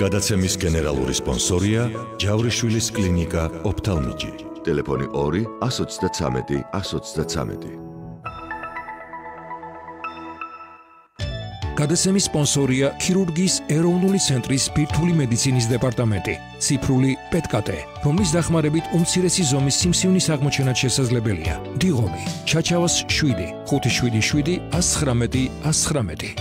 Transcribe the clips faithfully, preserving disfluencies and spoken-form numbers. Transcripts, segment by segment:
გადაცემის გენერალური სპონსორია ჯავრიშვილის კლინიკა ოფთალმიჯი. ტელეფონი ორი ას ოცდათრამეტი ას ოცდათრამეტი. გადაცემის სპონსორია ქირურგიის ეროვნული ცენტრის ბირთვული მედიცინის დეპარტამენტი. ციფრული პეტკატე, რომლის დახმარებით უმცირესი ზომის სიმსივნის აღმოჩენაც შესაძლებელია. დიღომი, ჩაჩავას შვიდი, ხუთი შვიდი შვიდი ას ცხრამეტი ას ცხრამეტი.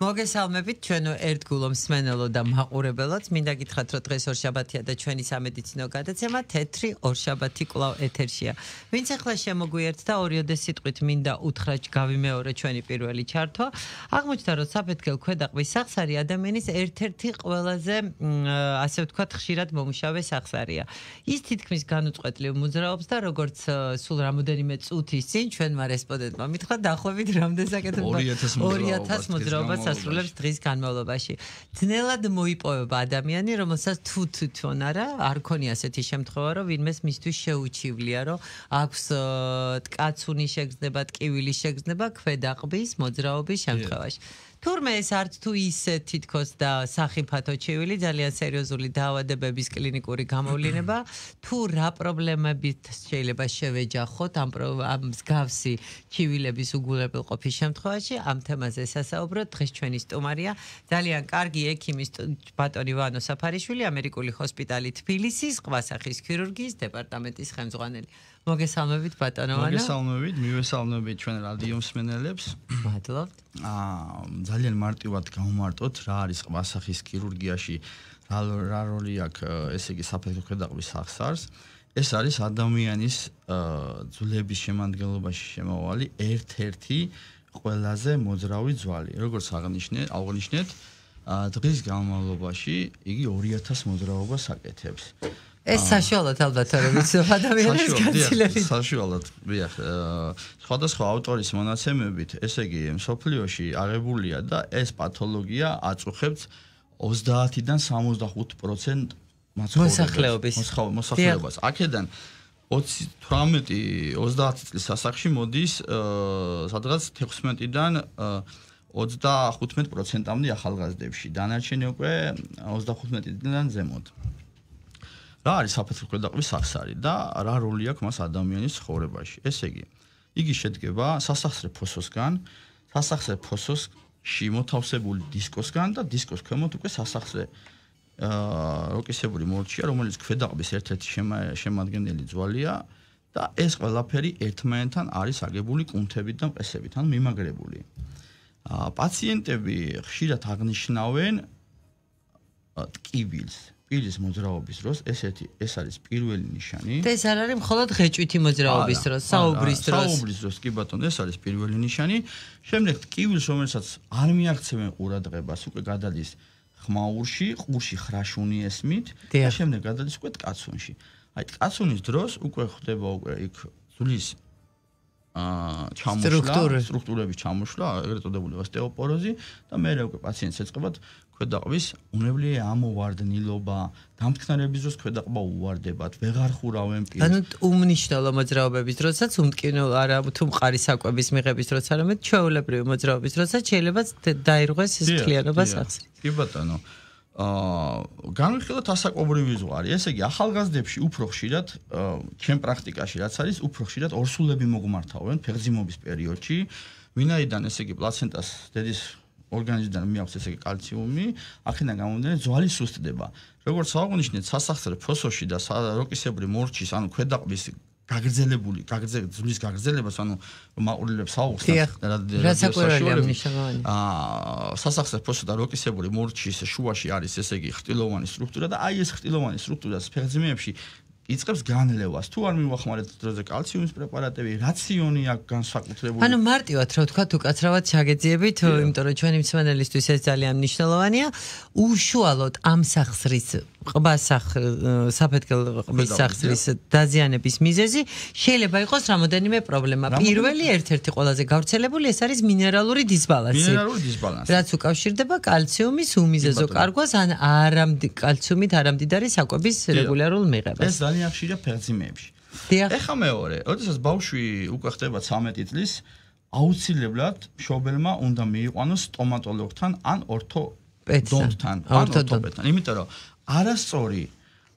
მოგესალმებით ჩვენო ერთგულო მსმენელო და მაყურებელო, მინდა გითხრათ რომ დღეს ორშაბათია და ჩვენი სამედიცინო გადაცემა თეთრი ორშაბათი კვლავ ეთერშია. ვინც ახლა შემოგვიერთდა ორიოდე სიტყვით მინდა უთხრა გავიმეორე ჩვენი პირველი ჩართვა. აღმოჩნდა რომ საფეთქელ ქვედაყბის სახსარი ადამიანის ერთ-ერთი ყველაზე ასე ვთქვათ ხშირად მომუშავე სახსარია. ის თითქმის განუწყვეტლივ მოძრაობს და როგორც სულ რამოდენიმე წუთის წინ ჩვენმა რესპონდენტმა მითხრა დაახლოებით რამდენ საკეთებდა ორი ათას მოძრაობას ასრულებს დღის განმავლობაში. ძნელად მოიპოვება ადამიანი, რომელსაც თუ თვითონ არა, არ ქონია ასეთი შემთხვევა, რომ ვინმეს მისთვის შეუჩივლია, რომ აქვს ტკაცუნი შეგრძნება, ტკივილი შეგრძნება ქვედაყბის მოძრაობის შემთხვევაში. თურმე ეს არც თუ ისე თითქოს და სახიფათო ჩივილი, ძალიან სერიოზული დაავადებების კლინიკური გამოვლინება, თუ რა პრობლემებით შეიძლება შევეჯახოთ ამ ამ მსგავსი ჩივილების უგულებელყოფის შემთხვევაში, ამ თემაზე სასაუბროთ. დღეს ჩვენი სტუმარია ძალიან კარგი ექიმი ბატონი ვანო საფარიშვილი, ამერიკული ჰოსპიტალი თბილისის ყვასახის ქირურგიის დეპარტამენტის ხელმძღვანელი. მოგესალმებით ბატონო ვანო. მოგესალმებით, მივესალმებით ჩვენ რადიო მსმენელებს. მადლობთ. აა ძალიან მარტივად გავმარტოთ რა არის ყვასახის ქირურგიაში, რა რა როლი აქვს ესე იგი საფეთქო ქვედაყბის სახსარს. ეს არის ადამიანის ძვლების შემადგენლობაში შემავალი ერთ-ერთი ყველაზე მოძრავი ძვალი. როგორც აღნიშნეთ, აღნიშნეთ, დღის განმავლობაში იგი ორი ათას მოძრაობას აკეთებს. ეს საშუალოდ ალბათ არ ვიცი ადამიანის განცილებით. საშუალოდ, დიახ, სხვადასხვა ავტორის მონაცემებით, ესე იგი, მსოფლიოში აღებულია და ეს პათოლოგია აწუხებს ოცდაათიდან სამოცდახუთ პროცენტ მოსახლეობის მოსახლეობას. აქედან ოცი თვრამეტი ოცდაათი წლის ასაკში მოდის სადღაც თექვსმეტიდან ოცდახუთმეტ პროცენტამდე ახალგაზრდებში. დანარჩენი უკვე ოცდახუთმეტიდან ზემოთ. რა არის საფეთქო ქვედაყბის სახსარი და რა როლი აქვს მას ადამიანის ცხოვრებაში? ესე იგი, იგი შედგება სასახსრე ფოსოსგან, სასახსრე ფოსოში მოთავსებული დისკოსგან და დისკოს ქვემოთ უკვე სასახსრე როკისებური მორჩია, რომელიც ქვედაყბის ერთ-ერთი შემადგენელი ძვალია და ეს ყველაფერი ერთმანეთთან არის აგებული კუნთებით და მყესებით, ანუ მიმაგრებული. პაციენტები ხშირად აღნიშნავენ ტკივილს. პირის მოძრაობის დროს ესეთი ეს არის პირველი ნიშანი. და ეს არ არის მხოლოდ ღეჭვითი მოძრაობის დროს, საუბრის დროს. საუბრის დროს კი ბატონო, ეს არის პირველი ნიშანი. შემდეგ ტკივილს, რომელსაც არ მიაღწევენ ყურადღებას, უკვე გადადის ხმაურში, ყურში ხრაშუნი ესმით და შემდეგ გადადის უკვე ტკაცუნში. აი ტკაცუნის დროს უკვე ხდება უკვე იქ ძვლის აა ჩამოშლა, სტრუქტურების ჩამოშლა, ეგრეთ წოდებული ოსტეოპოროზი და მერე უკვე პაციენტს ეწყებათ ქვედაყბის უნებლიე ამოვარდნილობა, დამტკნარების დროს ქვედაყბა უვარდებათ, ვეღარ ხურავენ პირს. ანუ უმნიშვნელო მოძრაობების დროსაც, უმტკინო არა თუ მყარი საკვების მიღების დროს, არამედ ჩვეულებრივი მოძრაობის დროსაც შეიძლება დაირღვეს ეს მთლიანობა სახსრით. კი ბატონო. აა განვიხილოთ ასაკობრივი ზღვარი. ესე იგი, ახალგაზრდებში უფრო ხშირად, ჩემ პრაქტიკაში რაც არის, უფრო ხშირად ორსულები მოგმართავენ ფეხმძიმობის პერიოდში, ვინაიდან ესე იგი პლაცენტას დედის ორგანიზმიდან მიაქვს ესე იგი კალციუმი, აქედან გამომდინარე ძვალი სუსტდება. როგორც აღნიშნეთ, სასახსრე ფოსოში და როკისებური მორჩის, ანუ ქვედაყბის გაგრძელებული, ძვლის გაგრძელებას, ანუ მაყურებლებს აუხსნათ რადიოსაშუალებით. აა სასახსრე ფოსო და როკისებური მორჩის შუაში არის ესე იგი ხრტილოვანი სტრუქტურა და აი ეს ხრტილოვანი სტრუქტურა ფეხმძიმეებში იწყებს განლევას. თუ არ მივახმარებთ დროზე კალციუმის პრეპარატები, რაციონი აქვს განსაკუთრებული. ანუ მარტივად რა ვთქვათ, უკაცრავად ჩაგეძიებით, იმიტომ რომ ჩვენი მსმენელისთვის ეს ძალიან მნიშვნელოვანია. უშუალოდ ამ სახსრის ყბასახ საფეთქელ ყბის სახსრის დაზიანების მიზეზი შეიძლება იყოს რამოდენიმე პრობლემა. პირველი ერთ-ერთი ყველაზე გავრცელებული ეს არის მინერალური დისბალანსი. მინერალური დისბალანსი. რაც უკავშირდება კალციუმის უმიზეზო კარგვას ან არამდიდარი კალციუმით არამდიდარი საკვების რეგულარულ მიღებას. ეს ძალიან ხშირია ფეხმძიმეებში. ეხა მეორე, როდესაც ბავშვი უკვე ხდება ცამეტი წლის, აუცილებლად მშობელმა უნდა მიიყვანოს სტომატოლოგთან ან ორთოდონტთან, ან ორთოპედთან, იმიტომ რომ არასწორი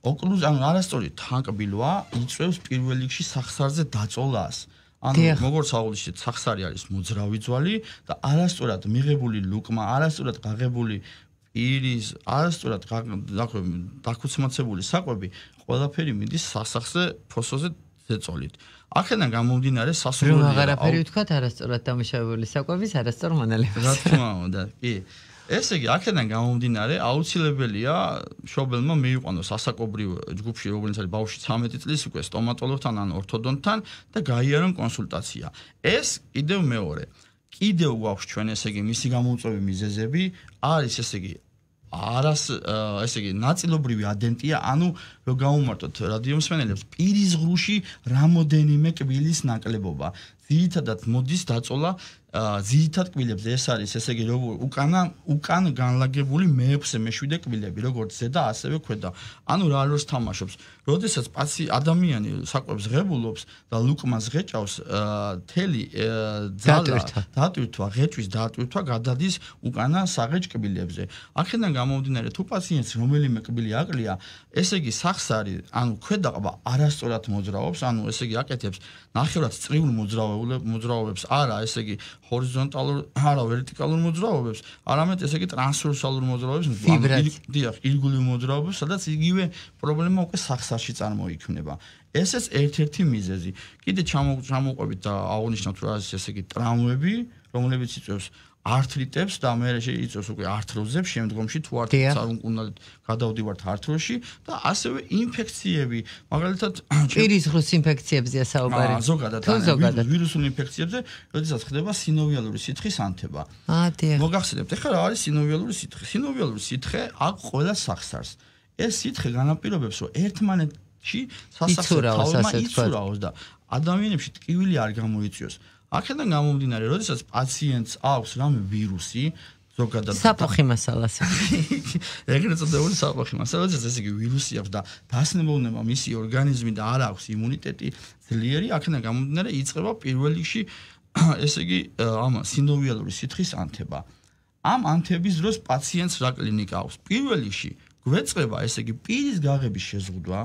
ოკლუზ ან არასწორი თანკბილვა იწვევს პირველ რიგში სახსარზე დაწოლას. ანუ როგორც აღვნიშნეთ, სახსარი არის მოძრავი ძვალი და არასწორად მიღებული ლუკმა, არასწორად გაღებული პირის, არასწორად დაქუცმაცებული საკვები ყველაფერი მიდის სასახზე ფოსოზე ზეწოლით. აქედან გამომდინარე სასურველია. რომ აღარაფერი ვთქვათ, არასწორად დამუშავებული საკვების არასწორ მონელებას. რა თქმა უნდა, კი. ესე იგი, აქედან გამომდინარე, აუცილებელია მშობელმა მიიყვანოს ასაკობრივ ჯგუფში, როგორც არის ბავშვი ცამეტი წლის უკვე სტომატოლოგთან ან ორთოდონტთან და გაიარონ კონსულტაცია. ეს კიდევ მეორე. კიდევ გვაქვს ჩვენ ესე იგი მისი გამოუწვევი მიზეზები, არის ესე იგი არას ესე იგი ნაწილობრივი ადენტია, ანუ რომ გავუმარტოთ რადიომსმენელებს, პირის ღრუში რამოდენიმე კბილის ნაკლებობა. ძირითადად მოდის დაწოლა ძირითად კბილებზე, ეს არის ესე იგი როგორ უკანა უკან განლაგებული მეექვსე მეშვიდე კბილები, როგორც ზედა, ასევე ქვედა. ანუ რა როლს თამაშობს? როდესაც პაცი ადამიანი საკვებს ღებულობს და ლუკმას ღეჭავს, თელი ძალა დატვირთვა, ღეჭვის დატვირთვა გადადის უკანა საღეჭ კბილებზე. აქედან გამომდინარე, თუ პაციენტს რომელიმე კბილი აკლია, ესე იგი სახსარი, ანუ ქვედაყბა არასწორად მოძრაობს, ანუ ესე იგი აკეთებს ნახევრად წრიულ მოძრაობებს, არა ესე იგი ჰორიზონტალურ, არა ვერტიკალურ მოძრაობებს, არამედ ესე იგი ტრანსვერსალურ მოძრაობებს, დიახ, ირგვლივ მოძრაობებს, სადაც იგივე პრობლემა უკვე სახსარში წარმოიქმნება. ესეც ერთ-ერთი მიზეზი. კიდე ჩამოვყვებით და აღნიშნავთ, რომ არის ესე იგი ტრავმები, რომლებიც იწვევს ართრიტებს და მე შეიწევს უკვე ართროზებს, შემდგომში თუ არც არ უნდა გადავდივართ ართროზში და ასევე ინფექციები, მაგალითად პირის ღრუს ინფექციებზია საუბარი. ზოგადად ვირუსულ ინფექციებზე, როდესაც ხდება სინოვიალური სითხის ანთება. აა, დიახ. მოგახსენებთ, ეხლა რა არის სინოვიალური სითხე? სინოვიალური სითხე აქ ყველა სახსარს. ეს სითხე განაპირობებს, რომ ერთმანეთში სასახსო თავმა იცურაოს და ადამიანებში ტკივილი არ გამოიწვიოს. აქედან გამომდინარე, როდესაც პაციენტს აქვს რამე ვირუსი, ზოგადად საფოხი მასალას. ეგრეთ წოდებული საფოხი მასალა, როდესაც ესე იგი ვირუსი აქვს და დასნებოვნება მისი ორგანიზმი და არ აქვს იმუნიტეტი ძლიერი, აქედან გამომდინარე იწყება პირველ რიგში ესე იგი ამ სინოვიალური სითხის ანთება. ამ ანთების დროს პაციენტს რა კლინიკა აქვს? პირველ რიგში გვეწყება ესე იგი პირის გაღების შეზღუდვა.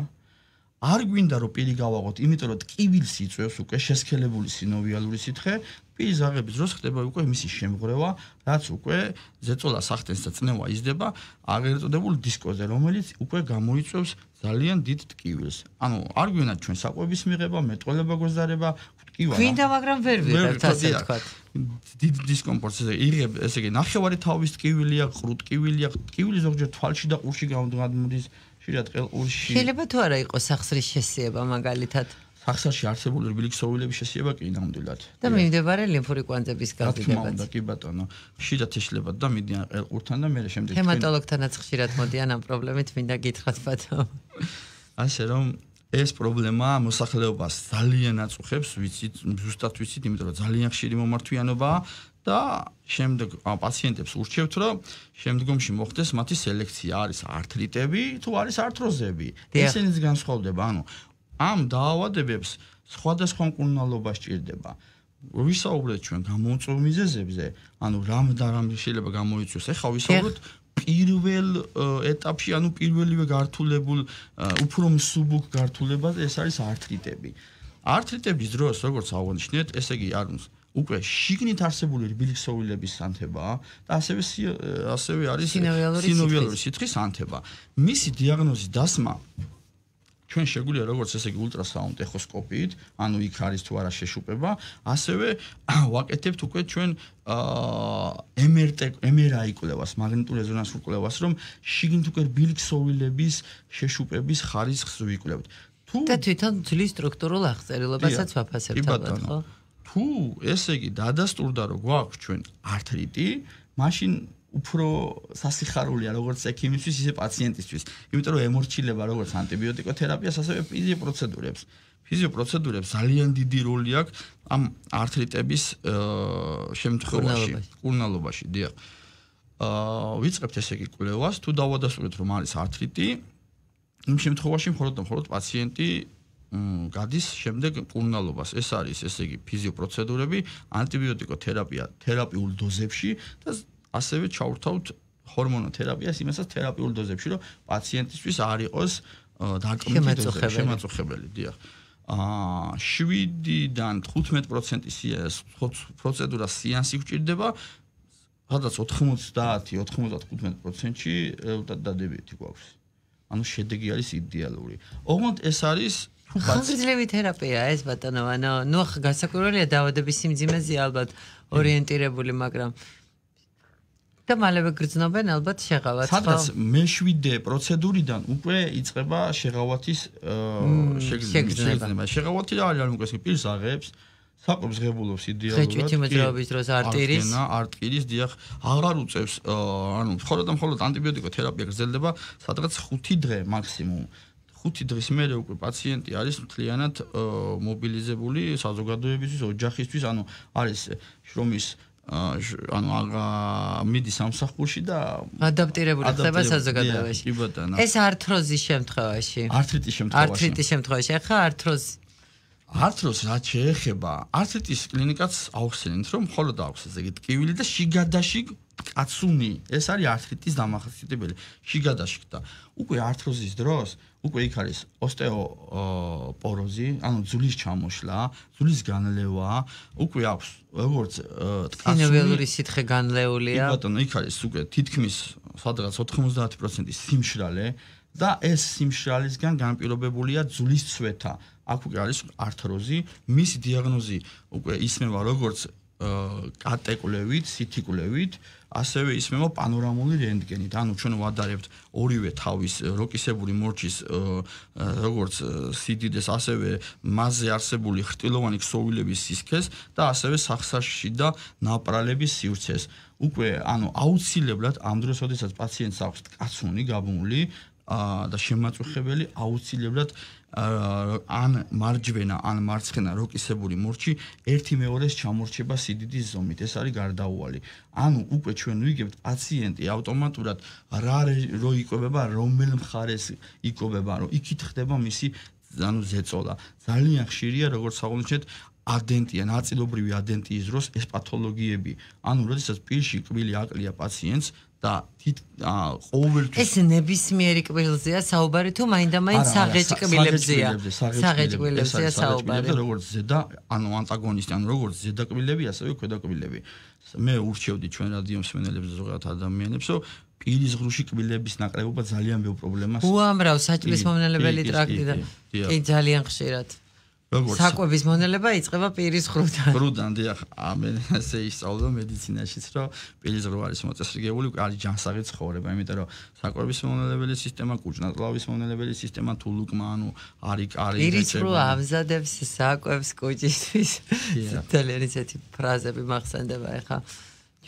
არ გვინდა რომ პირი გავაღოთ, იმიტომ რომ ტკივილს იწვევს უკვე შესქელებული სინოვიალური სითხე, პირის გაღების დროს ხდება უკვე მისი შემღვრევა, რაც უკვე ზეწოლა სახტენს და წნევა იზრდება აღარ წოდებულ დისკოზე, რომელიც უკვე გამოიწვევს ძალიან დიდ ტკივილს. ანუ არ გვინდა ჩვენ საკვების მიღება, მეტყველება გვეზარება, ტკივა. გვინდა, მაგრამ ვერ ვიღებთ ასე ვთქვათ. დიდ დისკომფორტს იღებ, ესე იგი ნახევარი თავის ტკივილია, ყრუ ტკივილია, ტკივილი ზოგჯერ თვალში და ყურში გამოდის. შეიძლება თუ არა იყოს სახსრის შესიება მაგალითად? სახსარში არსებული რბილი შესიება კი ნამდვილად. და მიმდებარე ლიმფური კვანძების გაზრდებაც. და კი ბატონო, ხშირად ეშლებათ და მიდიან ყელყურთან და მე შემდეგ ჰემატოლოგთანაც ხშირად მოდიან ამ პრობლემით, მინდა გითხრათ ბატონო. ასე რომ ეს პრობლემა მოსახლეობას ძალიან აწუხებს, ვიცით, ზუსტად ვიცით, იმიტომ რომ ძალიან ხშირი მომართვიანობაა. და შემდეგ პაციენტებს ურჩევთ, რომ შემდგომში მოხდეს მათი სელექცია, არის ართრიტები თუ არის ართროზები. ესენიც განსხვავდება, ანუ ამ დაავადებებს სხვადასხვა მკურნალობა სჭირდება. ვისაუბრეთ ჩვენ გამოუწვევ მიზეზებზე, ანუ რამ და რამ შეიძლება გამოიწვიოს. ეხლა ვისაუბრეთ პირველ ეტაპში, ანუ პირველივე გართულებულ უფრო მსუბუქ გართულებაზე, ეს არის ართრიტები. ართრიტების დროს, როგორც აღნიშნეთ, ესე იგი არის უკვე შიგნით არსებული რბილქსოვილების ანთება და ასევე ასევე არის სინოვიალური სითხის ანთება. მისი დიაგნოზის დასმა ჩვენ შეგვიძლია როგორც ესე იგი ულტრასაუნდ ეხოსკოპიით, ანუ იქ არის თუ არა შეშუპება, ასევე ვაკეთებთ უკვე ჩვენ ემ ერ ტი, ემ ერ აი კვლევას, მაგნიტურ რეზონანსულ კვლევას, რომ შიგნით უკვე რბილქსოვილების შეშუპების ხარისხს ვიკვლევთ. და თვითონ ძვლის სტრუქტურულ აღწერილობასაც ვაფასებთ ალბათ, ხო? თუ ესე იგი დადასტურდა რომ გვაქვს ჩვენ ართრიტი, მაშინ უფრო სასიხარულია როგორც ექიმისთვის, ისე პაციენტისთვის, იმიტომ რომ ემორჩილება როგორც ანტიბიოტიკოთერაპიას, ასევე ფიზიოპროცედურებს. ფიზიოპროცედურებს ძალიან დიდი როლი აქვს ამ ართრიტების შემთხვევაში, კურნალობაში, დიახ. აა ვიწყებთ ესე იგი კვლევას, თუ დავადასტურეთ რომ არის ართრიტი, იმ შემთხვევაში მხოლოდ და მხოლოდ პაციენტი გადის შემდეგ მკურნალობას. ეს არის ესე იგი ფიზიოპროცედურები, ანტიბიოტიკოთერაპია თერაპიულ დოზებში და ასევე ჩაურთავთ ჰორმონოთერაპიას იმასაც თერაპიულ დოზებში, რომ პაციენტისთვის არ იყოს დაკმითი დოზები, შემაწუხებელი, დიახ. აა შვიდიდან თხუთმეტ პროცენტი პროცედურა სეანსი გვჭირდება, სადაც ოთხმოცდაათი ოთხმოცდათხუთმეტ პროცენტში რეზულტატი დადებითი გვაქვს. ანუ შედეგი არის იდეალური. ოღონდ ეს არის ხანგრძლივი თერაპია ეს ბატონო, ანუ ნუ ახლა გასაკვირველია დაავადების სიმძიმეზე ალბათ ორიენტირებული, მაგრამ და მალევე გრძნობენ ალბათ შეღავათ. სადაც მეშვიდე პროცედურიდან უკვე იწყება შეღავათის შეგრძნება. შეღავათი რა არის, ანუ ეს პირს აღებს, საკვებს ღებულობს იდეალურად. ხეჭვითი მოძრაობის დროს არტირის, არტირის დიახ, აღარ უწევს, ანუ მხოლოდ და მხოლოდ ანტიბიოტიკოთერაპია გრძელდება სადღაც ხუთი დღე მაქსიმუმ. ხუთი დღის მერე უკვე პაციენტი არის მთლიანად მობილიზებული საზოგადოებისთვის, ოჯახისთვის, ანუ არის შრომის ანუ აღა მიდის სამსახურში და ადაპტირებული ხდება საზოგადოებაში. ეს ართროზის შემთხვევაში. ართრიტის შემთხვევაში. ართრიტის შემთხვევაში. ახლა ართროზი ართროზს რაც შეეხება, ართრიტის კლინიკაც აუხსენით, რომ მხოლოდ აქვს ესე იგი ტკივილი და შიგადაში კაცუნი. ეს არის ართრიტის დამახასიათებელი. შიგადაში და უკვე ართროზის დროს უკვე იქ არის ოსტეოპოროზი, ანუ ძვლის ჩამოშლა, ძვლის განლევა, უკვე აქვს როგორც ტკაცუნი სინოველი სითხე განლეულია. კი ბატონო, იქ არის უკვე თითქმის სადღაც ოთხმოცდაათი პროცენტი სიმშრალე და ეს სიმშრალისგან განპირობებულია ძვლის ცვეთა. აქ უკვე არის ართროზი, მისი დიაგნოზი უკვე ისმევა როგორც კატეკვლევით, სითიკვლევით, ასევე ისმევა პანორამული რენტგენით. ანუ ჩვენ ვადარებთ ორივე თავის როკისებური მორჩის როგორც სიდიდეს, ასევე მასზე არსებული ხრტილოვანი ქსოვილების სისქეს და ასევე სახსაში და ნაპრალების სივრცეს. უკვე ანუ აუცილებლად ამ დროს, როდესაც პაციენტს აქვს კაცუნი გაბმული და შემაწუხებელი, აუცილებლად ან მარჯვენა, ან მარცხენა როკისებური მორჩი ერთი მეორეს ჩამორჩება სიდიდის ზომით. ეს არის გარდაუვალი. ანუ უკვე ჩვენ ვიგებთ პაციენტი ავტომატურად რა რო იკვებება, რომელ მხარეს იკვებება, რომ იქით ხდება მისი ანუ ზეწოლა. ძალიან ხშირია, როგორც აღნიშნეთ, ადენტია, ნაწილობრივი ადენტიის დროს ეს პათოლოგიები. ანუ როდესაც პირში კბილი აკლია პაციენტს და ყოველთვის ეს ნებისმიერი კბილზეა საუბარი თუ მაინდა-მაინც საღეჭ კბილებზეა. საღეჭ კბილებზეა საუბარი. როგორც ზედა, ანუ ანტაგონისტი, ანუ როგორც ზედა კბილები, ასევე ქვედა კბილები. მე ურჩევდი ჩვენ რადიო მსმენელებს ზოგადად ადამიანებს, რომ პირის ღრუში კბილების ნაკლებობა ძალიან ბევრ პრობლემას. უამრავ საჭმლის მომნელებელი ტრაქტი და კი ძალიან ხშირად. საკვების მონელება იწყება პირის ღრუდან. ღრუდან, დიახ, ამენ ასე ისწავლო მედიცინაშიც, რომ პირის ღრუ არის მოწესრიგებული, არის ჯანსაღი ცხოვრება, იმიტომ რომ საკვების მონელებელი სისტემა, კუჭნაწლავის მონელებელი სისტემა, თულუკმა, ანუ არის კარი. პირის ღრუ ამზადებს საკვებს კუჭისთვის. ძალიან ისეთი ფრაზები მახსენდება ახლა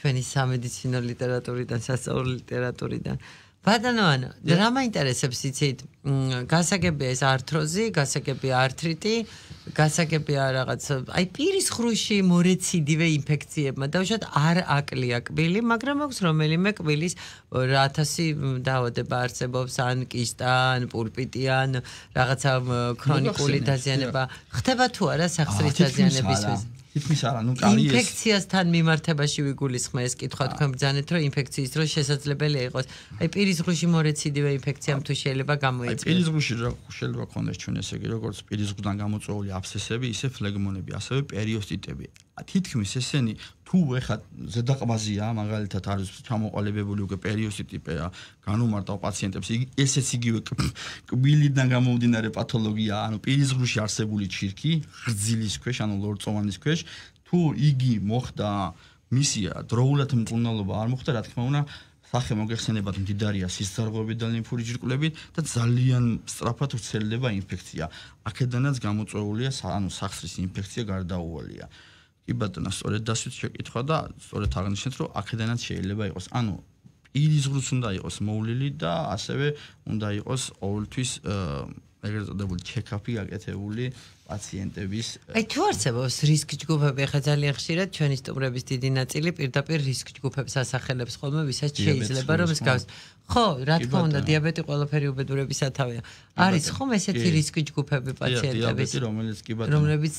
ჩვენი სამედიცინო ლიტერატურიდან, სასწავლო ლიტერატურიდან. ბატონო ანა, რა მაინტერესებს იცით? გასაგებია ეს ართროზი, გასაგებია ართრიტი, გასაგებია რაღაც, აი პირის ღრუში მორეციდივე ინფექციებმა დაუშვათ არ აკლია კბილი, მაგრამ აქვს რომელიმე კბილის ათასი დაავადება არსებობს, ან კისტა, ან პულპიტი, ან რაღაცა ქრონიკული დაზიანება. ხდება თუ არა სახსრის დაზიანებისთვის? თითქმის არა, ნუ კარი ეს ინფექციასთან მიმართებაში ვიგულისხმე ეს კითხვა თქვენ ბძანეთ, რომ ინფექციის დროს შესაძლებელია იყოს. აი პირის ღრუში მორეციდივე ინფექციამ თუ შეიძლება გამოიწვიოს. აი პირის ღრუში შეიძლება ქონდეს ჩვენ ესე იგი, როგორც პირის ღრუდან გამოწვეული აბსესები, ისე ფლეგმონები, ასევე პერიოსტიტები. თითქმის ესენი თუ ეხა ზედაყბაზია, მაგალითად არის ჩამოყალიბებული უკვე პერიოსტიტია, განუმარტავ პაციენტებს, ესეც იგივე კბილიდან გამომდინარე პათოლოგია, ანუ პირის ღრუში არსებული ჩირკი, ღრძილის ქვეშ, ანუ ლორწოვანის ქვეშ, თუ იგი მოხდა მისია დროულად მკურნალობა არ მოხდა, რა თქმა უნდა, სახე მოგეხსენებათ მდიდარია სისხლძარღვებით და ლიმფური ჯირკვლებით და ძალიან სწრაფად ვრცელდება ინფექცია. აქედანაც გამოწვეულია, ანუ სახსრის ინფექცია გარდაუვალია. კი ბატონო, სწორედ დასვით შეკითხვა და სწორედ აღნიშნეთ, რომ აქედანაც შეიძლება იყოს, ანუ პირის ღრუს უნდა იყოს მოვლილი და ასევე უნდა იყოს ყოველთვის ეგრეთ წოდებული ჩეკაპი გაკეთებული პაციენტების აი თუ არსებობს რისკ ჯგუფები, ხა ძალიან ხშირად ჩვენი სტუმრების დიდი ნაწილი პირდაპირ რისკ ჯგუფებს ასახელებს ხოლმე, ვისაც შეიძლება რომ მსგავს. ხო, რა თქმა უნდა, დიაბეტი ყველაფერი უბედურების სათავეა. არის ხომ ესეთი რისკ ჯგუფები პაციენტების, რომელიც კი ბატონო, რომლებიც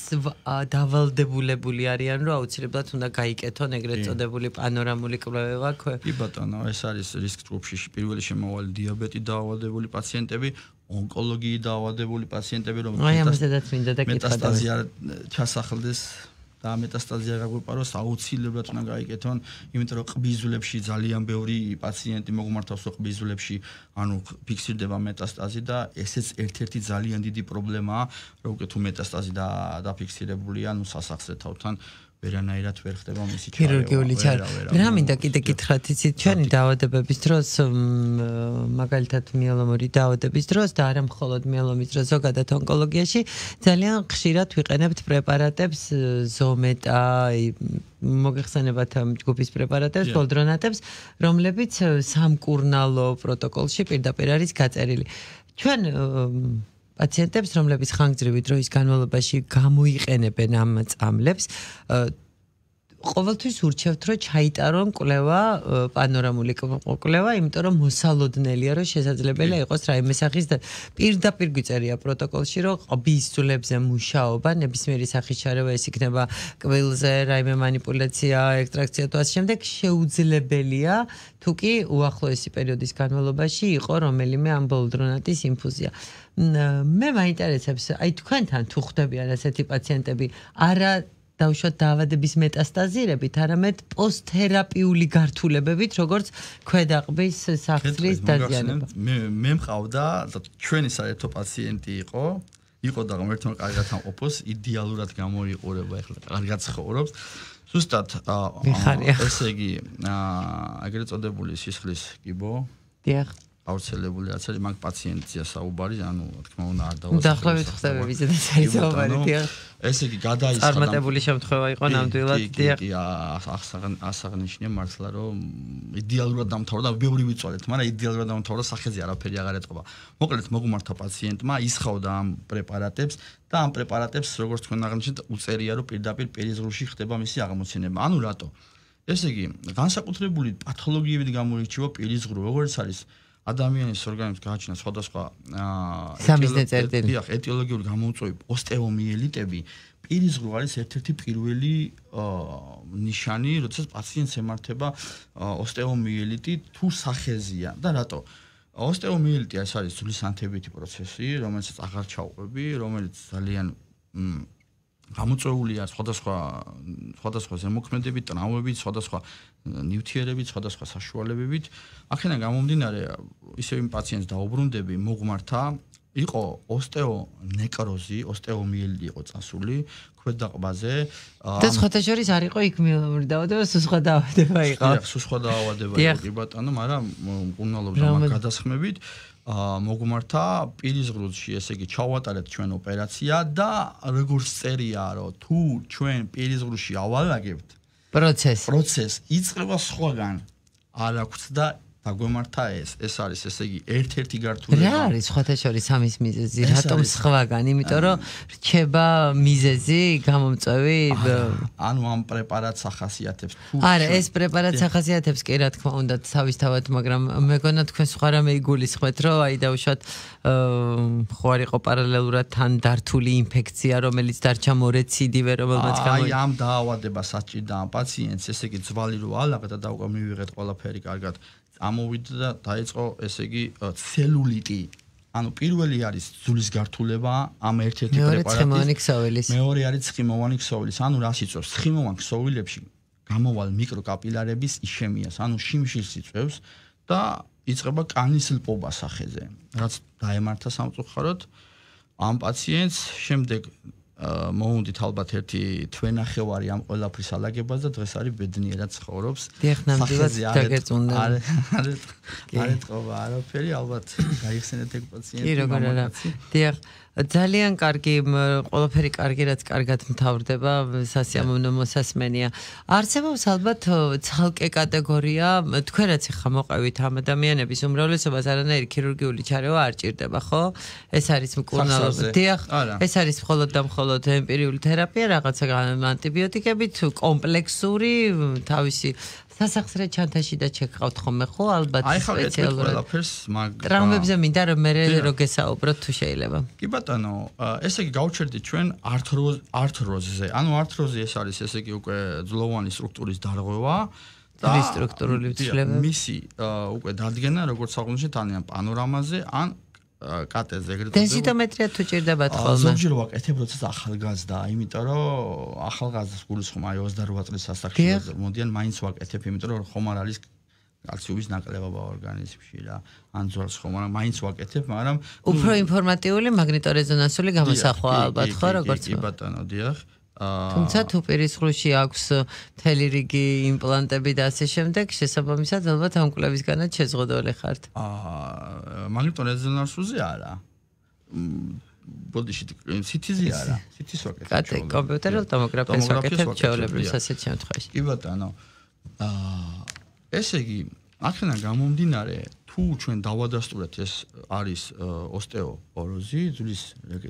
დავალდებულებული არიან, რომ აუცილებლად უნდა გაიკეთონ ეგრეთ წოდებული პანორამული კვლევა. კი ბატონო, ეს არის რისკ ჯგუფში პირველი შემავალი დიაბეტი დაავადებული პაციენტები, ონკოლოგიით დაავადებული პაციენტები, რომელთაც მეტასტაზია ჩასახლდეს და მეტასტაზია გაგვეპაროს, აუცილებლად უნდა გაიკეთონ, იმიტომ რომ ყბიზულებში ძალიან ბევრი პაციენტი მოგმართავს ყბიზულებში, ანუ ფიქსირდება მეტასტაზი და ესეც ერთ-ერთი ძალიან დიდი პრობლემაა, რომ უკვე თუ მეტასტაზი დაფიქსირებულია, ანუ სასახსრე თავთან ვერანაირად ვერ ხდება მისი ჩარევა. ქირურგიული ჩარევა. რა მინდა კიდე გითხრათ, იცით, ჩვენი დაავადებების დროს, მაგალითად მიელომური დაავადების დროს და არა მხოლოდ მიელომის დროს, ზოგადად ონკოლოგიაში ძალიან ხშირად ვიყენებთ პრეპარატებს, ზომეტა, მოგეხსენებათ ჯგუფის პრეპარატებს, ბოლდრონატებს, რომლებიც სამკურნალო პროტოკოლში პირდაპირ არის გაწერილი. ჩვენ პაციენტებს, რომლებიც ხანგრძლივი დროის განმავლობაში გამოიყენებენ ამ წამლებს, ყოველთვის ურჩევთ, რომ ჩაიტარონ კვლევა, პანორამული კვლევა, იმიტომ რომ მოსალოდნელია, რომ შესაძლებელია იყოს რაიმე სახის პირდაპირ გვიწერია პროტოკოლში, რომ ყბის ძვლებზე მუშაობა, ნებისმიერი სახის ჩარევა, ეს იქნება კბილზე, რაიმე მანიპულაცია, ექსტრაქცია თუ ასე შემდეგ, შეუძლებელია, თუ კი უახლოესი პერიოდის განმავლობაში იყო რომელიმე ამ ბოლდრონატის ინფუზია. მე მაინტერესებს, აი თქვენთან თუ ხდებიან ასეთი პაციენტები, არა დავუშვათ დაავადების მეტასტაზირებით, არამედ პოსტთერაპიული გართულებებით, როგორც ქვედაყბის სახსრის დაზიანება. მე მე მყავდა ჩვენი საერთო პაციენტი იყო, იყო და ღმერთმა კარგად ამყოფოს, იდეალურად გამოიყურება, ეხლა კარგად ცხოვრობს. ზუსტად ესე იგი, ეგრეთ წოდებული სისხლის კიბო. დიახ. აუცილებელი რაც არის მაგ პაციენტია საუბარი, ანუ რა თქმა უნდა არ დავასრულებ. დაახლოებით ხდებები ზედაც არის საუბარი, დიახ. ესე იგი გადაისხა. წარმატებული შემთხვევა იყო ნამდვილად, დიახ. კი, ასაღნიშნე მართლა რომ იდეალურად დამთავრდა, ბევრი ვიწვალეთ, მაგრამ იდეალურად დამთავრდა, სახეზე არაფერი აღარ ეტყობა. მოკლედ მოგმართა პაციენტმა, ისხავდა ამ პრეპარატებს და ამ პრეპარატებს, როგორც თქვენ აღნიშნეთ, უწერია, რომ პირდაპირ პერიზღრუში ხდება მისი აღმოცენება. ანუ რატო? ესე იგი, განსაკუთრებული პათოლოგიებით გამოირჩევა პერიზღრუ, როგორც არის ადამიანის ორგანიზმს გააჩნია სხვადასხვა ეტიოლოგიური გამოუწვევი ოსტეომიელიტები, პირიზღრუ არის ერთ-ერთი პირველი ნიშანი, როდესაც პაციენტს ემართება ოსტეომიელიტი თუ სახეზია და რატო? ოსტეომიელიტი ეს არის ძვლის ანთებითი პროცესი, რომელსაც აღარ ჩავყვები, რომელიც ძალიან გამოწვეულია სხვადასხვა სხვადასხვა ზემოქმედებით, ტრამვებით, სხვადასხვა ნივთიერებით, სხვადასხვა საშუალებებით. აქედან გამომდინარე, ისევ იმ პაციენტს დაუბრუნდები, მოგმართა, იყო ოსტეონეკროზი, ოსტეომიელიტი იყო წასული ქვედაყბაზე. და სხვათა შორის არ იყო იქ მიელომური დაავადება, სულ სხვა დაავადება იყო. დიახ, სულ სხვა დაავადება იყო, კი ბატონო, მაგრამ მკურნალობდა მაგ გადასხმებით. მოგმართა პირიზღრუში, ესე იგი, ჩავატარეთ ჩვენ ოპერაცია და როგორც წერია, რომ თუ ჩვენ პირიზღრუში ავალაგებთ პროცესს, პროცესს იწყება სხვაგან. არ აქვს და დაგვემართა ეს. ეს არის, ესე იგი, ერთ-ერთი გართულება. რა არის სხვათა შორის ამის მიზეზი? რატომ სხვაგან? იმიტომ რომ რჩება მიზეზი, გამომწვევი, ანუ ამ პრეპარატს ახასიათებს თუ არა, ეს პრეპარატს ახასიათებს კი რა თქმა უნდა თავისთავად, მაგრამ მეგონა თქვენ სხვა რამე იგულისხმეთ, რომ აი დავუშვათ ხო არ იყო პარალელურად თან დართული ინფექცია, რომელიც დარჩა მორეციდივე, რომელმაც გამო აი ამ დაავადებას აჭირდა ამ პაციენტს, ესე იგი, ძვალი რო ალაგდა და უკვე მივიღეთ ყველაფერი კარგად. ამოვიდა და დაიწყო, ესე იგი, ცელულიტი. ანუ პირველი არის ძვლის გართულება, ამ ერთ-ერთი პრეპარატის. მეორე არის ცხიმოვანი ქსოვილის. ანუ რას იწვევს? ცხიმოვან ქსოვილებში გამოვალ მიკროკაპილარების იშემიას, ანუ შიმშილს იწვევს და იწყება კანის ლპობა სახეზე. რაც დაემართა სამწუხაროდ ამ პაციენტს, შემდეგ მოუნდით ალბათ ერთი თვენახევარი ამ ყველაფრის ალაგებას და დღეს არის ბედნიერად ცხოვრობს. დიახ, ნამდვილად დაგეწუნდა. არ ეთყობა არაფერი, ალბათ გაიხსენეთ ეგ პაციენტი. კი, როგორ არა. დიახ, ძალიან კარგი, ყველაფერი კარგი, რაც კარგად მთავრდება, სასიამოვნო მოსასმენია. არსებობს ალბათ ცალკე კატეგორია, თქვენ რაც ახლა მოყევით ამ ადამიანების უმრავლესობას არანაირი ქირურგიული ჩარევა არ ჭირდება, ხო? ეს არის მკურნალობა. დიახ, ეს არის მხოლოდ და მხოლოდ ემპირიული თერაპია, რაღაცა ანტიბიოტიკებით, კომპლექსური, თავისი სასახსრე ჩანთაში და ჩეკავთ ხოლმე ხო ალბათ სპეციალურად ტრაუმებზე მინდა რომ მე რო გესაუბროთ თუ შეიძლება კი ბატონო ესე იგი გავჩერდით ჩვენ ართროზ ართროზზე ანუ ართროზი ეს არის ესე იგი უკვე ძვლოვანი სტრუქტურის დარღვევა და სტრუქტურული ცვლილება მისი უკვე დადგენა როგორც აღნიშნეთ ან პანორამაზე ან კატეზე ეგრეთ დენსიტომეტრია თუ ჭირდებათ ხოლმე ზოგჯერ ვაკეთებ როდესაც ახალგაზრდა იმიტომ რომ ახალგაზრდას გულისხმობა აი ოცდაოთხ წლის ასაკში მოდიან მაინც ვაკეთებ იმიტომ რომ ხომ არ არის კალციუმის ნაკლებობა ორგანიზმში რა ან ძველს ხომ არა მაინც ვაკეთებ მაგრამ უფრო ინფორმატიული მაგნიტორეზონანსული გამოსახვა ალბათ ხო როგორც კი ბატონო დიახ თუმცა თუ პირისხლში აქვს მთელი რიგი იმპლანტები და ასე შემდეგ შესაბამისად ალბათ ამ კვლევისგანაც შეზღუდული ხართ აა მაგნიტორეზონანსზე არა ბოდიში სიტიზე არა სიტის ვაკეთებ კატე კომპიუტერულ ტომოგრაფიას ვაკეთებ ჩვეულებრივ ასეთ შემთხვევაში კი ბატონო აა ესე იგი აქედან გამომდინარე თუ ჩვენ დავადასტურეთ ეს არის ოსტეოპოროზი ძვლის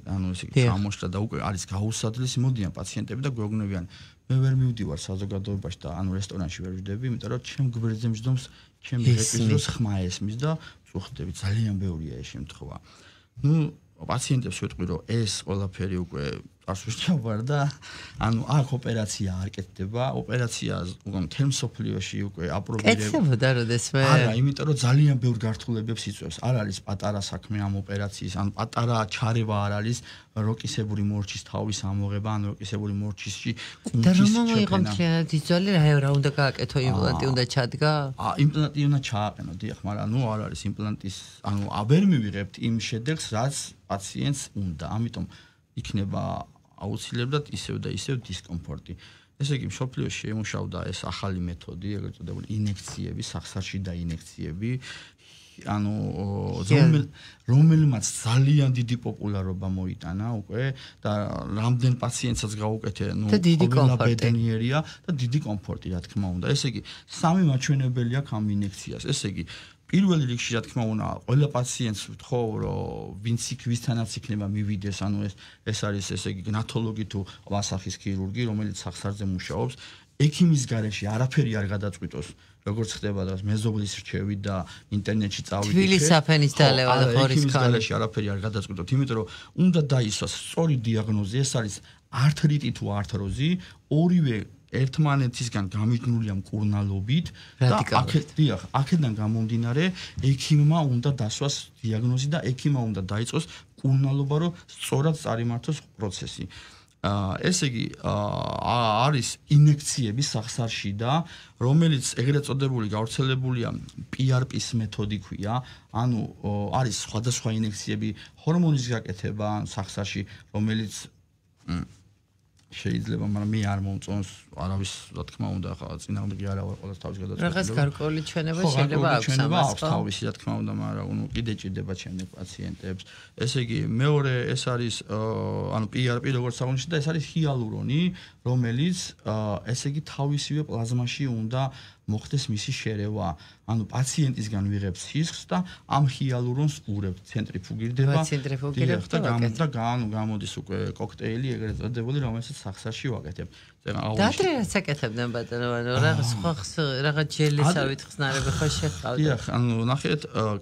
ანუ ესე იგი ჩამოშლა და უკვე არის გაუსადლისი მოდიან პაციენტები და გვეუბნებიან მე ვერ მივდივარ საზოგადოებაში და ანუ რესტორანში ვერ ვждები იმიტომ რომ ჩემ გვერდზე მჯდომს ჩემი რეკვიზიტოს ხმა ესმის და წუხდები ძალიან ბევრია ეს შემთხვევა ნუ პაციენტებს ვიტყვი რომ ეს ყველაფერი უკვე წასვლა ვარ და ანუ აქ ოპერაცია არ კეთდება ოპერაცია უკვე მთელ მსოფლიოში უკვე აპრობირება კეთდებოდა როდესმე არა იმიტომ რომ ძალიან ბევრ გართულებებს იწვევს არ არის პატარა საქმე ამ ოპერაციის ან პატარა ჩარევა არ არის როკისებური მორჩის თავის ამოღება ან როკისებური მორჩისში და რომ მოიყო მთლიანად იძვალე რა რა უნდა გააკეთო იმპლანტი უნდა ჩადგა აა იმპლანტი უნდა ჩააყენო დიახ მაგრამ ნუ არ არის იმპლანტის ანუ ვერ მივიღებთ იმ შედეგს რაც პაციენტს უნდა ამიტომ იქნება აუცილებლად ისევ და ისევ დისკომფორტი. ესე იგი, მსოფლიოში შემუშავდა ეს ახალი მეთოდი, ეგრეთ წოდებული ინექციები, სახსარში და ინექციები, ანუ რომელმაც ძალიან დიდი პოპულარობა მოიტანა უკვე და რამდენ პაციენტსაც გაუკეთე, ნუ ყველაბედნიერია და დიდი კომფორტი, რა თქმა უნდა. ესე იგი, სამი მაჩვენებელი აქვს ამ ინექციას. ესე იგი, პირველი რიგში რა თქმა უნდა ყველა პაციენტს ვთხოვ რომ ვინც იქ ვისთანაც იქნება მივიდეს ანუ ეს ეს არის ესე იგი გნათოლოგი თუ ყბასახის ქირურგი რომელიც სახსარზე მუშაობს ექიმის გარეშე არაფერი არ გადაწყვიტოს როგორც ხდება და მეზობლის რჩევით და ინტერნეტში წავიდეთ თბილის საფენის დალევა და ხორის ქალი გარეშე არაფერი არ გადაწყვიტოთ იმიტომ რომ უნდა დაისვას სწორი დიაგნოზი ეს არის ართრიტი თუ ართროზი ორივე ერთმანეთისგან გამიჯნულია მკურნალობით და აქედან აქედან გამომდინარე ექიმმა უნდა დასვას დიაგნოზი და ექიმმა უნდა დაიწყოს მკურნალობა რომ სწორად წარიმართოს პროცესი. აა ესე იგი არის ინექციები სახსარში და რომელიც ეგრეთ წოდებული გავრცელებულია პი არ პის მეთოდი ქვია, ანუ არის სხვადასხვა ინექციები ჰორმონის გაკეთება სახსარში, რომელიც შეიძლება, მაგრამ მე არ მომწონს არავის, რა თქმა უნდა, ხა წინააღმდეგი არა ვარ ყოველს თავის გადაწყვეტილება. რაღაც გარკვეული ჩვენება შეიძლება აქვს ამას, ხო? თავისი, რა თქმა უნდა, მაგრამ ნუ კიდე ჭირდება ჩემი პაციენტებს. ესე იგი, მეორე ეს არის ანუ პი არ პი როგორც აღნიშნეთ და ეს არის ჰიალურონი, რომელიც ესე იგი თავისივე პლაზმაში უნდა მოხდეს მისი შერევა. ანუ პაციენტისგან ვიღებს სისხლს და ამ ჰიალურონს ურევთ, ცენტრიფუგირდება. ცენტრიფუგირებს და გამო გამოდის უკვე კოქტეილი ეგრეთ წოდებული, რომელსაც სახსარში ვაკეთებ. დაადრე რაც აკეთებდნენ ბატონო, ანუ რაღაც სხვა რაღაც ჯელისავით ხსნარები ხო შეყავდა. დიახ, ანუ ნახეთ,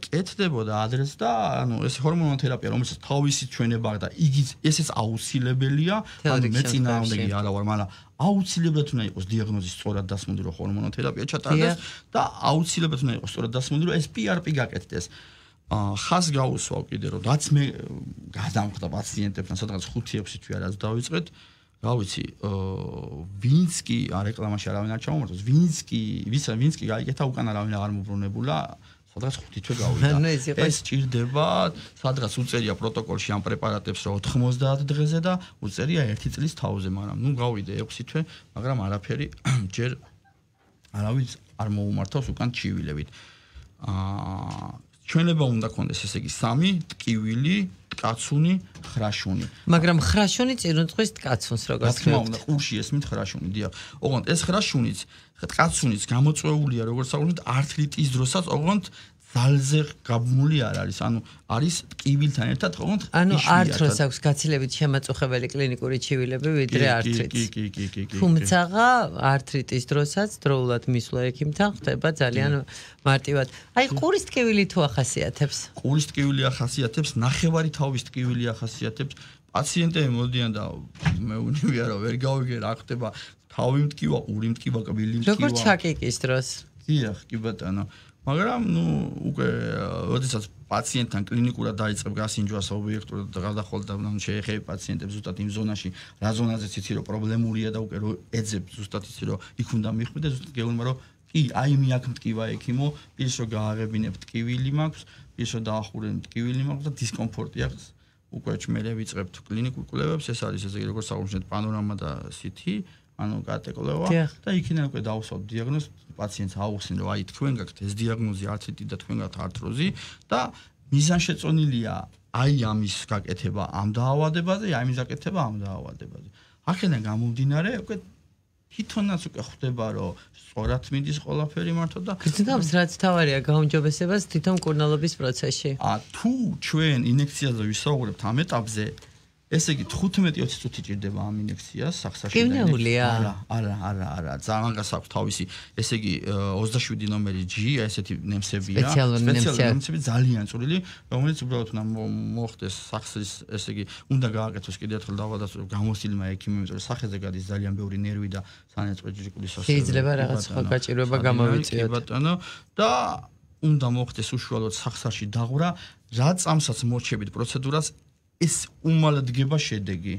კეთდებოდა ადრეს და ანუ ეს ჰორმონოთერაპია, რომელსაც თავისი ჩვენება აქვს და იგი ესეც აუცილებელია, ანუ მე წინააღმდეგი არა ვარ, მაგრამ აუცილებლად უნდა იყოს დიაგნოზი სწორად დასმული, რომ ჰორმონოთერაპია ჩატარდეს და აუცილებლად უნდა იყოს სწორად დასმული, რომ ეს პი არ პი გაკეთდეს. ხას გაუსვავ კიდე რომ რაც მე გადამხდა პაციენტებთან, სადღაც ხუთი ექვსი თვე რაც დავიწყეთ, რა ვიცი, ვინც კი რეკლამაში არავინ არ ჩამომართოს, ვინც კი, ვისა ვინც კი გაიკეთა უკან არავინ აღარ მოbrunებულა, სადღაც ხუთი თვე გავიდა. ეს ჭირდება, სადღაც უწერია პროტოკოლში ამ პრეპარატებს რომ ოთხმოცდაათ დღეზე და უწერია ერთი წლის თავზე, მაგრამ ნუ გავიდე ექვსი თვე, მაგრამ არაფერი ჯერ არავის არ მოუმართავს უკან ჩივილებით. აა ჩვენება უნდა კონდეს ესე იგი სამი ტკივილი, ტკაცუნი, ხრაშუნი. მაგრამ ხრაშუნი წირუნწყვის ტკაცუნს როგორც რა თქმა უნდა, ყურში ესმით ხრაშუნი, დიახ. ოღონდ ეს ხრაშუნიც, ტკაცუნიც გამოწვეულია როგორც საუბართ ართრიტის დროსაც, ოღონდ ძალზე გაბმული არ არის, ანუ არის ტკივილთან ერთად ოღონდ ანუ ართროს აქვს გაცილებით შემაწუხებელი კლინიკური ჩივილები ვიდრე ართრიტს. კი, კი, კი, კი, კი. თუმცა ართრიტის დროსაც დროულად მისვლა ექიმთან ხდება ძალიან მარტივად. აი ყურის ტკივილი თუ ახასიათებს? ყურის ტკივილი ახასიათებს, ნახევარი თავის ტკივილი ახასიათებს. პაციენტები მოდიან და მეუნივია რომ ვერ გავიგე რა ხდება, თავი მტკივა, ყური მტკივა, კბილი მტკივა. როგორ ჩაკიკის დროს? დიახ, კი ბატონო. მაგრამ ნუ უკვე როდესაც პაციენტთან კლინიკურად დაიწყებ გასინჯვას ობიექტურად და გადახვალ და ნუ შეეხები პაციენტებს ზუსტად იმ ზონაში, რა ზონაზეც იცი რომ პრობლემურია და უკვე რო ეძებ ზუსტად იცი რომ იქ უნდა მიხვიდე, ზუსტად გეუბნება რომ კი, აი მე აქ მტკივა ექიმო, პირს რომ გააღებინებ ტკივილი მაქვს, პირს რომ დაახურებ ტკივილი მაქვს და დისკომფორტი აქვს. უკვე მე ვიწყებთ კლინიკურ კვლევებს, ეს არის ესე იგი როგორც საუბართ პანორამა და სითი ანუ კატეგორია და იქიდან უკვე დავუსვათ დიაგნოზს პაციენტს აუხსენ რომ აი თქვენ გაქვთ ეს დიაგნოზი ართრიტი და თქვენ გაქვთ ართროზი და მიზანშეწონილია აი ამის გაკეთება ამ დაავადებაზე, აი ამის გაკეთება ამ დაავადებაზე. აქედან გამომდინარე უკვე თვითონაც უკვე ხვდება რომ სწორად მიდის ყველაფერი მართო და გრძნობს რაც თავარია გაუმჯობესებას თვითონ მკურნალობის პროცესში. ა თუ ჩვენ ინექციაზე ვისაუბრებთ ამ ეტაპზე ესე იგი თხუთმეტი ოცი წუთი ჭირდება ამ ინექციას სახსაში და არა არა არა არა ძალიან გასაქვს თავისი ესე იგი ოცდაშვიდი ნომერი G ესეთი ნემსებია სპეციალური ნემსები ძალიან წვრილი რომელიც უბრალოდ უნდა მოხდეს სახსის ესე იგი უნდა გააკეთოს კიდევ ერთხელ დავადასტურებ გამოსილმა ექიმმა იმიტომ რომ სახეზე გადის ძალიან ბევრი ნერვი და სანეწყვე ჯირკვლის ასო შეიძლება რაღაც სხვა გაჭირვება გამოვიწიოთ ბატონო და უნდა მოხდეს უშუალოდ სახსაში დაღვრა რა წამსაც მორჩებით პროცედურას ეს უმალად გება შედეგი.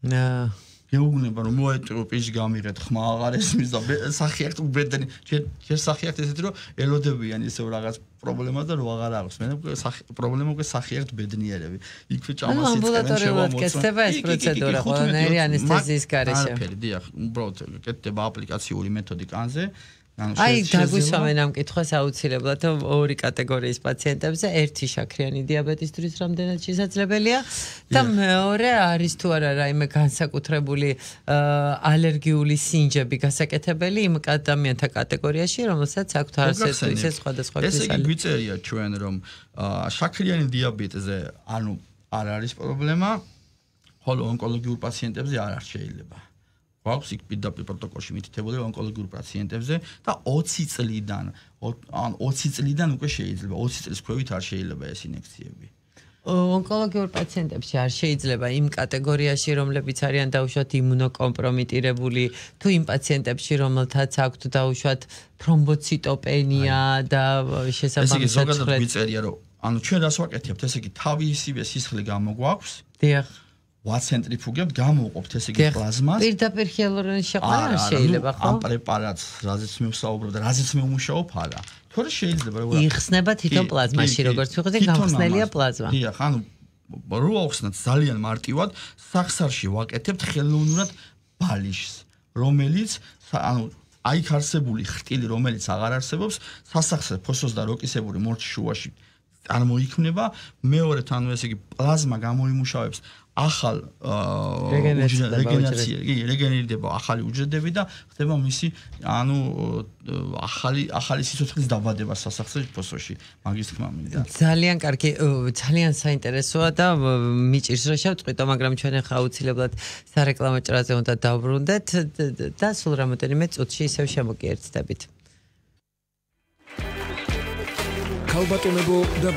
აა გეუბნება რომ მოეტყო პიჟი გამიღეთ ხმა აღარ ესმის და სახიახთ უბედენი ჯერ სახიახთ ესეთი რომ ელოდებიან ისევ რაღაც პრობლემა და რო აღარ აქვს. მე პრობლემა უკვე სახიახთ ბედნიერები. იქვე ჭამას იწყებენ შემომოწმება ეს პროცედურა ყველანაირი ანესთეზიის გარეშე. არაფერი, დიახ, უბრალოდ კეთდება აპლიკაციური მეთოდი კანზე. აი დაგვისვამენ ამ კითხვას აუცილებლად ორი კატეგორიის პაციენტებზე, ერთი შაქრიანი დიაბეტისთვის რამდენად შესაძლებელია და მეორე არის თუ არა რაიმე განსაკუთრებული ალერგიული სინჯები გასაკეთებელი იმ ადამიანთა კატეგორიაში, რომელსაც აქვთ არასდროს ისე სხვადასხვა ეს იგი გვიწერია ჩვენ რომ შაქრიანი დიაბეტზე ანუ არ არის პრობლემა, ხოლო ონკოლოგიურ პაციენტებზე არ არ შეიძლება. გვაქვს იქ პირდაპირ პროტოკოლში მითითებული ონკოლოგიურ პაციენტებზე და ოცი წლიდან ან ოცი წლიდან უკვე შეიძლება ოცი წლის ქვევით არ შეიძლება ეს ინექციები. ონკოლოგიურ პაციენტებში არ შეიძლება იმ კატეგორიაში, რომლებიც არიან დაუშვათ იმუნოკომპრომიტირებული, თუ იმ პაციენტებში, რომელთაც აქვთ დაუშვათ თრომბოციტოპენია და შესაბამისად ეს იგი ზოგადად გვიწერია რომ ანუ ჩვენ რას ვაკეთებთ, ესე იგი თავისივე სისხლი გამოგვაქვს. დიახ. ვაცენტრიფუგებთ, გამოვყოფთ ესე იგი პლაზმას. პირდაპირ ჰიალურონის შეყვანა შეიძლება, ხო? ამ პრეპარატს, რაზეც მე ვსაუბრობ და რაზეც მე ვმუშაობ, არა. თორე შეიძლება რა. იხსნება თვითონ პლაზმაში, როგორც ვიხდი, გამხსნელია პლაზმა. დიახ, ანუ რო ავხსნათ ძალიან მარტივად, სახსარში ვაკეთებთ ხელოვნურად ბალიშს, რომელიც ანუ აი არსებული ხრტილი, რომელიც აღარ არსებობს, სასახსრე ფოსოს და როკისებური მორჩის შუაში წარმოიქმნება, მეორედ ანუ ესე იგი პლაზმა გამოიმუშავებს ახალ რეგენერაცია, კი, რეგენერირდება ახალი უჯრედები და ხდება მისი ანუ ახალი ახალი სიცოცხლის დაბადება სასახსრე ფოსოში. მაგის თქმა მინდა. ძალიან კარგი, ძალიან საინტერესოა და მიჭირს რომ შევწყვიტო, მაგრამ ჩვენ ახლა აუცილებლად სარეკლამო ჭრაზე უნდა დავბრუნდეთ და სულ რამოდენიმე წუთში ისევ შემოგიერთდებით. ქალბატონებო და